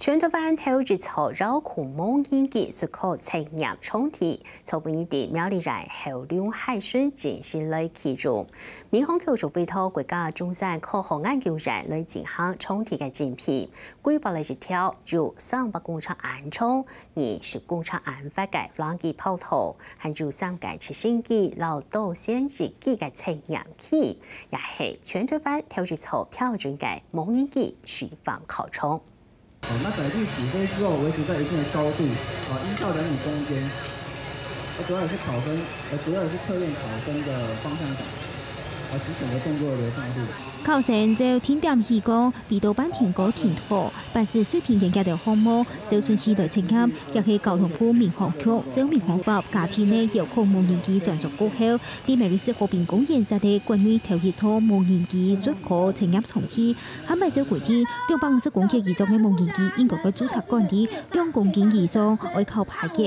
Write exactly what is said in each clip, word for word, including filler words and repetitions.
全台灣頭一座遙控無人機術科測驗場地，昨晡日在苗栗縣後龍溪鎮正式來啟用。民航局就委託國家中山科學研究院來進行場地个競標，規劃了一條由三百公尺安長、二十公尺安闊个無人機跑道，還有三个直升機摎導旋翼機个測驗器，也係全台灣頭一座標準个無人機示範考場。 好，那載具起飛之後維持在一定的高度，啊，一到兩米中間。啊，主要也是考生，呃，主要也是測驗考生的方向感，啊，及整個動作的流暢度。考生就定點起降，飛到半天高停落，凡係水平較低个項目，就順序來測驗，也係交通部民航局照民航法加添个遙控無人機專屬過後，在苗栗市和平公園設立國內頭一座無人機術科測驗場地， 還擺照規定，兩百五十公斤以上个無人機應該愛註冊管理，兩公斤以上愛考牌照。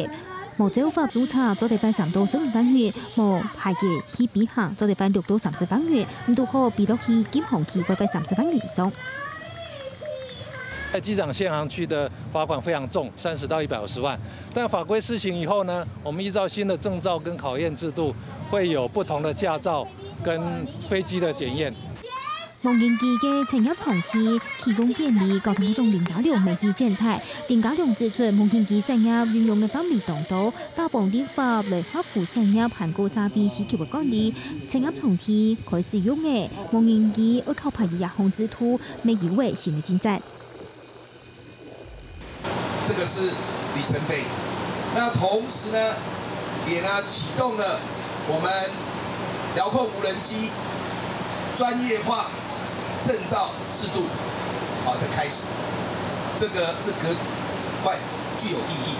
無照法註冊做得罰三到十五萬元，無牌照去飛行做得罰六到三十萬元，毋堵好飛落去禁航區會罰三十萬元以上。在機場限航區的罰款非常重，三十到一百五十萬。但法規施行以後呢，我們依照新的證照跟考驗制度，會有不同的駕照跟飛機的檢驗。 無人機个測驗場地啟用典禮，交通部長林佳龍乜去剪綵。林佳龍指出，無人機產業運用个範圍當多，打幫立法來合乎產業還過社會需求个管理。測驗場地開始用个無人機愛考牌照這項制度，乜有了新个進展。 這個是里程碑。那同時呢，也呢啟動了我們遙控無人機專業化證照制度，好的開始，這個是格外具有意義。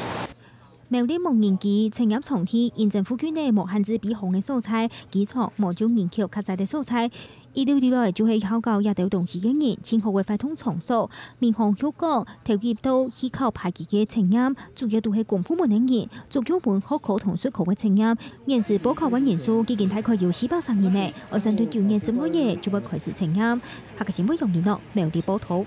苗栗無人機測驗場地因政府區內無限制飛航个所在，機場無就人口較濟个所在， 一路以來就係好搞這兜東西个人，盡好个活動場所。民航局講，頭一到去考牌照个測驗，主要都係公部門个人，主要分學科同術科个測驗。現時報考个人數已經大概有四百三人了，按算對舊年十二月就會開始測驗。客家新聞楊林樂，苗栗報導。